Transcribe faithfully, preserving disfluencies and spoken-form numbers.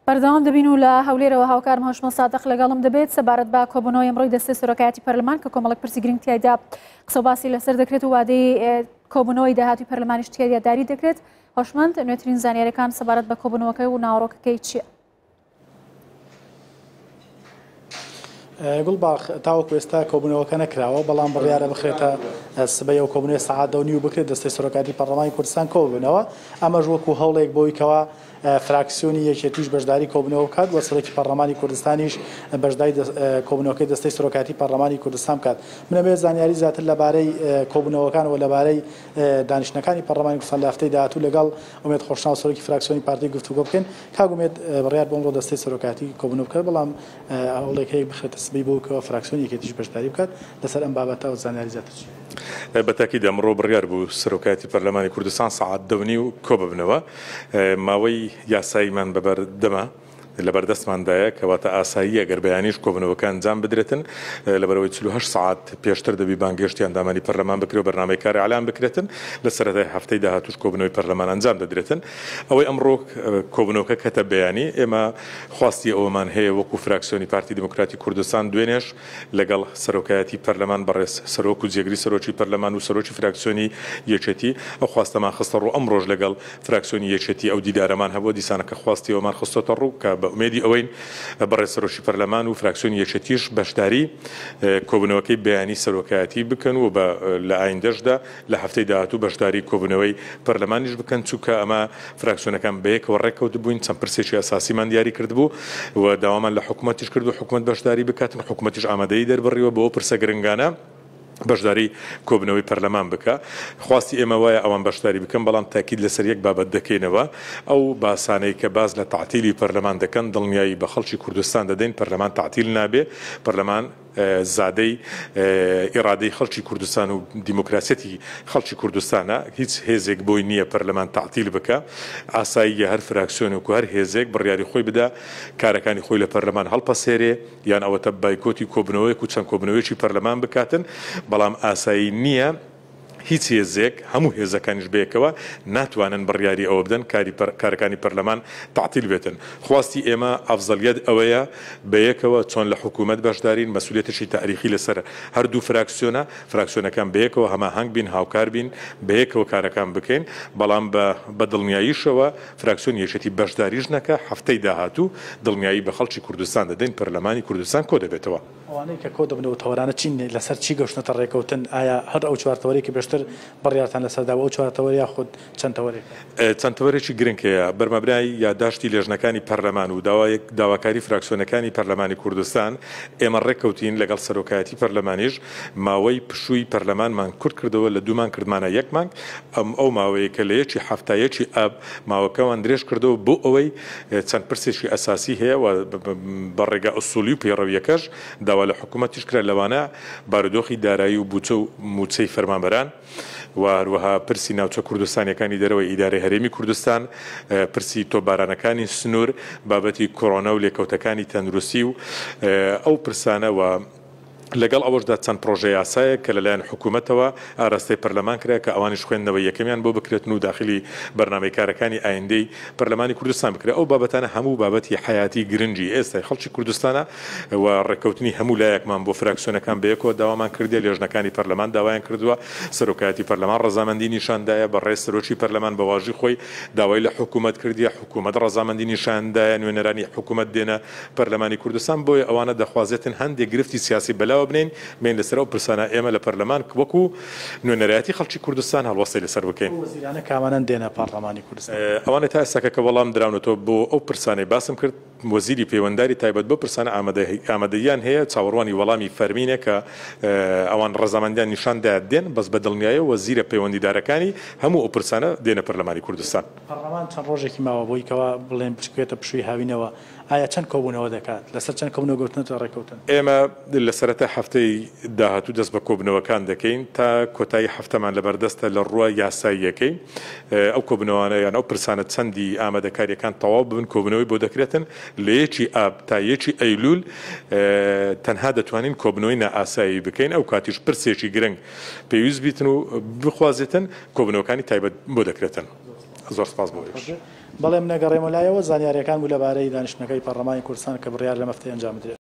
بەردەوام دەبین و لە هەولێرەوە هاوکارم هۆشمەند سادق لەگەڵم دەبێت سەبارەت بە کۆبوونەوەی ئەمڕۆی دەستەی سەرۆکایەتی پەرلەمان کە کۆمەڵێک پرسی گرنگ تیایدا قسە و باسی لەسەر دەکرێت و وادەی کۆبوونەوەی داهاتووی پەرلەمانیش تیایدا داری دەکرێت. هۆشمەند، نوێترین زانیاریەکان سەبارەت بە کۆبوونەوەکەی و ناوەڕۆکەکەی چییە؟ گوڵباخ، تاوەکو ئێستا کۆبوونەوەکە نەکراوە، بەڵام بڕیارە بخرێتە سبەی ئەو کۆبوونەوەی سەعات دە و نیو بکرێت، دەستەی سەرۆکایەتی پەرلەمانی کوردستان کۆببنەوە. ئەمەش وەکو هەوڵێک بۆی کەوا فراکسیۆنی یەکێتیش بەشداری کۆبوونەوە بکات و سەرۆکی پەرلەمانی کوردستانیش بەشداری کۆبوونەوەکەی دەستەی سەرۆکایەتی پەرلەمانی کوردستان بکات. من ئەمەوێت زانیاری زیاتر لەبارەی کۆبوونەوەکان و لەبارەی دانیشتنەکانی پەرلەمانی کوردستان لە هەفتەی داهاتوو لەگەڵ ئومێد خۆشناو سەرۆکی فراکسیۆنی پارتی گفتوگۆ بکەین. کاک ئومێد، بڕیار بۆ ئەمڕۆ دەستەی سەرۆکایەتی کۆبوونەوە بکات، بەڵام هەوڵێک هەیە بخرێتە سبەی بۆ کەوا فراکسیۆنی یەکێتیش بەشداری بکات. لەسەر ئەم بابەتە و زانیاری زیاتر چی؟ بە تاکید ئەمڕۆ بڕیار بوو سەرۆکایەتی پەرلەمانی کوردستان سەعات دە و نیو کۆ ببنەوە. ماوەی یاساییمان بەبەردەمە لەبەردەستماندایە کەواتە ئاساییە گەر بەیانیش کۆبنەوەکە ئەنجام بدرێتن، لەبەرەوەی چل و هەشت سەعات پێشتر دەبی بانگهێشتی ئەندامانی پەرلەمان بکرێ و بەرنامەی کار ئیعلان بکرێتن. لە سەرەتای هەفتەی داهاتوش کۆبنەوەی پەرلەمان ئەنجام دەدرێتن. ئەوەی ئەمڕۆ کۆبنەوەکە کەتە بەیانی، ئێمە خواستی ئەوەمان هەیە وەکو فراکسیۆنی پارتی دیموکراتی کوردستان دوێنێش لەگەڵ سەرۆکایەتی پەرلەمان بەڕێز سەرۆک و جێگری سەرۆکی پەرلەمان و سەرۆکی فراکسیۆنی یەکێتی ئەو خواستەمان خستە ڕوو. ئەمڕۆژ لەگەڵ فراکسیۆنی یەکێتی ئەو دیدارەمان هەبووە، دیسانەکە خواستی ئەومان خستۆتە ڕوو کە بە ئومێدی ئەوەین بەڕێز سەرۆکی پەرلەمان و فراکسیۆنی یەکێتیش بەشداری کۆبوونەوەکەی بەیانی سەرۆکایەتی بکەن و بە لە ئایندەشدا لە هەفتەی داهاتوو بەشداری کۆبوونەوەی پەرلەمانیش بکەن، چونکە ئەمە فراکسیۆنەکان بەیەکەوە ڕێککەوت بووین، چەند پرسێکی ئەساسیمان دیاری کردبوو و داوامان لە حکوومەتیش کرد و حکوومەت بەشداری بکاتن. حکوومەتیش ئامادەیی دەربڕیوە بۆ ئەو پرسە گرنگانە بەشداری کۆبنەوەی پەرلەمان بکە. خواستی ئێمە وایە ئەوان بەشداری بکەن، بەڵام تاکید لەسەر یەک بابەت دەکەینەوە. ئەو باسانەی کە باز لە تەعتیلی پەرلەمان دەکەن، دڵنیایی بە خەڵکی کوردستان دەدەین پەرلەمان تەعتیل نابێ. پەرلەمان زادەی ئیرادەی خەڵکی کوردستان و دیموکراسیەتی خەڵکی کوردستانە. هیچ هێزێک بۆی نییە پەرلەمان تەعتیل بکە. ئاساییە هەر فراکسیۆنێک و هەر هێزێک بڕیاری خۆی بدا کارەکانی خۆی لە پەرلەمان هەڵپەسێرێ، یان ئەوەتە بایکۆتی کۆبنەوەیەک و چەند کۆبنەوەیەکی پەرلەمان بکاتن، بەڵام ئاسایی نییە هیچ هێزێک، هەموو هێزەکانیش بەیەکەوە ناتوانن بڕیاری ئەوە بدەن کارەکانی پەرلەمان تەعتیل بێتن. خواستی ئێمە ئەفزەلیەت ئەوەیە بەیەکەوە چۆن لە حکوومەت بەشدارین، مەسئولیەتێکی تاریخی لەسەر هەردوو فراکسیۆنە، فراکسیۆنەکان بەیەکەوە هەماهەنگ بین، هاوکار بین، بەیەکەوە کارەکان بکەین. بەڵام بە دڵنیاییشەوە فراکسیۆن یەکێتی بەشداریش نەکە، هەفتەی داهاتوو دڵنیایی بە خەڵکی کوردستان دەدەین پەرلەمانی کوردستان کۆ دەبێتەوە. ئەوانەی کە کۆ دەبنەوە تەوەرانە چین، لەسەر چی گەشتنەتە ڕێکەوتن؟ ئایا هەر ئەو چوار تەوەرەی کە پێشتر بڕیارتان لەسەردا ئەو چوار تەوەر یاخود چەند تەوەرێک؟ چەند تەوەرێکی گرنگ هەیە. بەرمەبنای یاداشتی لێژنەکانی پەرلەمان و داواکاری فراکسیۆنەکانی پەرلەمانی کوردستان ئێمە ڕێککەوتین لەگەڵ سەرۆکایەتی پەرلەمانیش ماوەی پشووی پەرلەمانمان کورت کردەوە لە دوو مانگ کردمانە یەک مانگ. ئەم ئەو ماوەیە کە لە یەکی حەفتا یەکی ئاب ماوەکەوان درێژ کردەوە بۆ ئەوەی چەند پرسێکی ئەساسی هەیە و بە ڕێگا ئوسولی و پەیڕەویەکەش داوا لە حکوومەتیش کرا، لەوانە بارودۆخی دارایی و بودجە و موچەی فەرمانبەران و هەروەها پرسی ناوچە کوردستانیەکانی دەرەوەی ئیدارەی هەرێمی کوردستان، پرسی تۆپبارانەکانی سنوور، بابەتی کۆرۆنا و لێکەوتەکانی تەندروستی و ئەو پرسانە و لەگەڵ ئەوەشدا چەند پرۆژە یاسایەک کە لەلایەن حکوومەتەوە ئاراستەی پەرلەمان کرا کە ئەوانیش خوێندنەوەی یەکەمیان بۆ بکرێتن و داخلی بەرنامەی کارەکانی ئایندەی پەرلەمانی کوردستان بکرێت. ئەو بابەتانە هەموو بابەتی حیاتی گرنگی ئێستای خەڵکی کوردستانە و ڕێککەوتنی هەموو لایەکمان بۆ فراکسیۆنەکان بەیەکەوە داوامان کردیە، لێژنەکانی پەرلەمان داوایان کردووە، سەرۆکایەتی پەرلەمان ڕەزامەندی نیشاندایە، بەڕێز سەرۆکی پەرلەمان بە واژی خۆی داوای لە حکوومەت کردیە، حکوومەت ڕەزامەندی نیشاندایە، نوێنەرانی حکوومەت دێنە پەرلەمانی کوردستان. بۆیە ئەوانە دەخوازێتن هەندێک گرفتی سیاسی بەلاوە بنین، بین لەسەر ئەو پرسانە ئێمە لە پەرلەمان وەکو نوێنەرایەتی خەڵکی کوردستان هەڵوەستەی لەسەر بکەین. وەزیرانە کامانەن دێنە پەرلەمانی کوردستان؟ ئەوانە تا ئێستاکە کە وەڵام دراونەتەوە بۆ ئەو پرسانەی باسم کرد، وەزیری پەیوەنداری تایبەت بۆ پرسانە ئامادەییان هەیە، چاوەڕوانی وەڵامی فەرمینە کە ئەوان ڕەزامەندیان نیشاندا دێن، بەس بە دڵنیایە وەزیرە پەیوەندیدارەکانی هەموو ئەو پرسانە دێنە پەرلەمانی کوردستان. پەرلەمان چەند ڕۆژێکی ماوە بۆی کەوا بڵێن بچکوێتە پشووی هاوینەوە، ئایا چەند کۆبوونەوە دەکات؟ لەسەر چەند کۆبوونەوە گەوتنەتە ڕێککەوتن؟ ئێمە لە سەرەتا هەفتەی داهاتوو دەست بە کۆبوونەوەکان دەکەین تا کۆتایی هەفتەمان لەبەردەستە لە ڕووە یاساییەکەی. ئەو کۆبوونەوانە یان ئەو پرسانە چەندی ئامادەکاریەکان تەواو ببن کۆبوونەوەی بۆ دەکرێتن. لە یەکی ئاب تا یەکی ئەیلول تەنها دەتوانین کۆبوونەوەی نائاسایی بکەین. ئەو کاتیش پرسێکی گرنگ پێویست بیتن و بخوازێتن کۆبوونەوەکانی تایبەت بۆ دەکرێتن. زۆر سپاس بۆ ئێوەش. بەڵێ من ئەگەڕێمەوە لایەوە زانیاریەکان بوو لەبارەی دانیشتنەکەی پەرلەمانی کوردستان کە بڕیار لەم هەفتەیە ئەنجام بدرێت.